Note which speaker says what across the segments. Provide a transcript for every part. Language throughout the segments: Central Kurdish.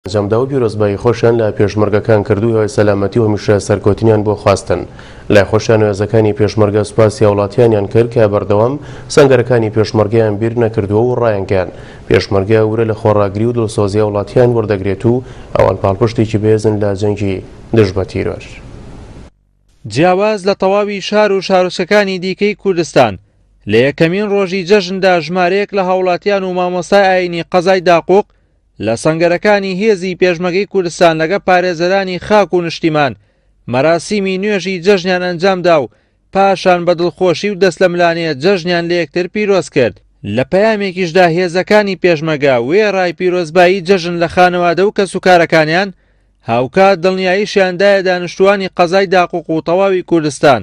Speaker 1: ئەنجامدا و پیرۆزبایی خۆشیان لە پێشمەرگەکان کرد و هیوای سەلامەتی و هەمیشە سەرکەوتنیان بۆ خواستن. لای خۆشیان هێزەکانی پێشمەرگە سوپاسی هاوڵاتیانیان کرد کە بەردەوام سەنگەرەکانی پێشمەرگەیان بیر نەکردووە و ڕایانگەیاند پێشمەرگە ورە لە خۆڕاگری و دڵسۆزی هاوڵاتیان وەردەگرێت و ئەوان پاڵپشتێکی بەهێزن لە جەنگی دژ بە تیرۆر.
Speaker 2: جیاواز لە تەواوی شار و شارۆچکەکانی دیکەی کوردستان، لە یەکەمین ڕۆژی جەژندا ژمارەیەک لە هاوڵاتیان و مامۆستای ئایینی قەزای داقوق لە سەنگەرەکانی هێزی پێشمەگەی کوردستان لەگە پارێزەرانی خاک و نشتیمان مەراسیمی نوێژی جەژنیان ئەنجامدا و پاشان بە دڵخۆشی و دەستلەملانێ جەژنیان لە یەکتر پیرۆز کرد. لە پەیامێکیشدا هێزەکانی پێشمەگە وێڕای پیرۆزبایی جەژن لە خانەوادە و کەسوکارەکانیان، هاوکات دڵنیاییشیان دایە دانیشتووانی قەزای داقوق و تەواوی کوردستان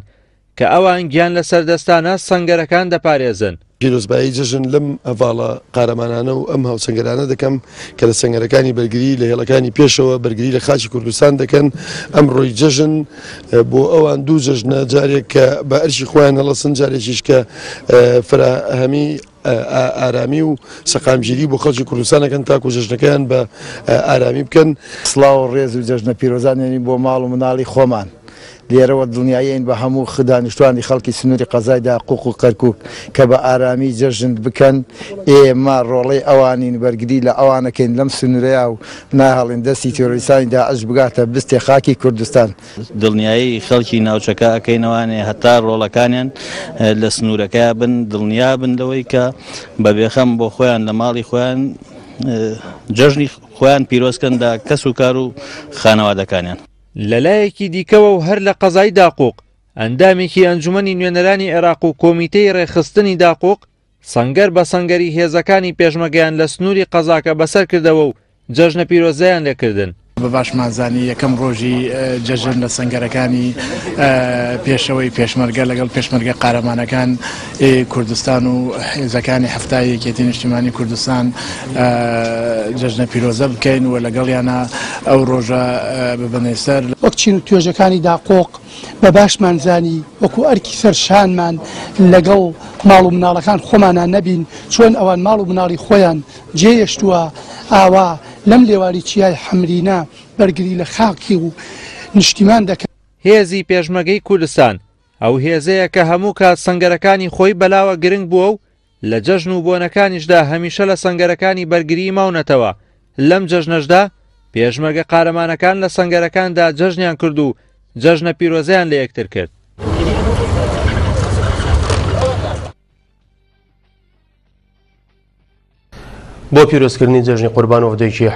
Speaker 2: کە ئەوان گیان لەسەردەستانە سەنگەرەکان دەپارێزن.
Speaker 3: پیرۆزبایی جەژن لەم هەڤاڵە قارەمانانە و ئەم هاوسەنگەرانە دەکەم کە لە سەنگەرەکانی بەرگری لە هێڵەکانی پێشەوە بەرگری لە خاکی کوردستان دەکەن. ئەمڕۆی جەژن بۆ ئەوان دوو جەژنە، جارێک کە بە ئەرکی خۆیان هەڵەسن، جارێکیش کە فراهەمی ئارامی و سەقامگیری بۆ خەڵکی کوردستان ئەکەن تاکو جەژنەکەیان بە ئارامی بکەن.
Speaker 4: سڵاو و ڕێز و جەژنە پیرۆزان نێرین بۆ ماڵ و مناڵی خۆمان. لێرەوە دڵنیایین بە هەموو دانیشتوانی خەڵکی سنووری قەزای داقوق و کەرکوک کە بە ئارامی جەژن بکەن، ئێمە ڕۆڵەی ئەوانین بەرگری لە ئەوان ئەکەین لەم سنوورەیا و ناهێڵین دەستی تیرۆریستانی داعش بگاتە بستێ خاکی کوردستان.
Speaker 5: دڵنیایی خەڵکی ناوچەکە ئەکەینەوانێ هەتا ڕۆڵەکانیان لە سنوورەکەیا بن دڵنیا بن لەوەی کە بە بێخەم بۆ خۆیان لە ماڵی خۆیان جەژنی خۆیان پیرۆز کەن لە کەس و کار و خانەوادەکانیان.
Speaker 2: لەلایەکی دیکەوە و هەر لە قەزای داقوق، ئەندامێکی ئەنجومەنی نوێنەرانی عێراق و کۆمیتەی ڕێکخستنی داقوق، سەنگەر بە سەنگەری هێزەکانی پێشمەگەیان لە سنووری قەزاکە بەسەر کردەوە و جەژنە پیرۆزەیان لێکردن.
Speaker 6: بە باشمان زانی یەکەم ڕۆژی جەژن لە سەنگەرەکانی پێشەوەی پێشمەرگە لەگەڵ پێشمەرگە قارەمانەکان کوردستان و هێزەکانی حەفتای یەکێتی نیشتیمانی کوردستان جەژنە پیرۆزە بکەین و لەگەڵیانە ئەو ڕۆژە ببەنێ سەر.
Speaker 7: وەک چین و توێژەکانی داقۆق بە باشمان زانی وەکو ئەرکی سەر شانمان لەگەڵ ماڵ و مناڵەکان خۆمانا نەبین، چۆن ئەوان ماڵ و مناڵی خۆیان جێیەشتووە ئاوا لەم لێواری چیای حەمرینە بەرگری لە خاکی و نیشتیمان دەکەن.
Speaker 2: هێزی پێشمەگەی کوردستان ئەو هێزەیە کە هەموو کات سەنگەرەکانی خۆی بەلاوە گرنگ بووە و لە جەژن و بۆنەکانیشدا هەمیشە لە سەنگەرەکانی بەرگریی ماونەتەوە، لەم جەژنەشدا پێشمەرگە قارەمانەکان لە سەنگەرەکاندا جەژنیان کرد و جەژنە پیرۆزەیان لە یەکتر کرد.
Speaker 1: بۆ پیرۆزکردنی جەژنی قوربان وەفدێکی.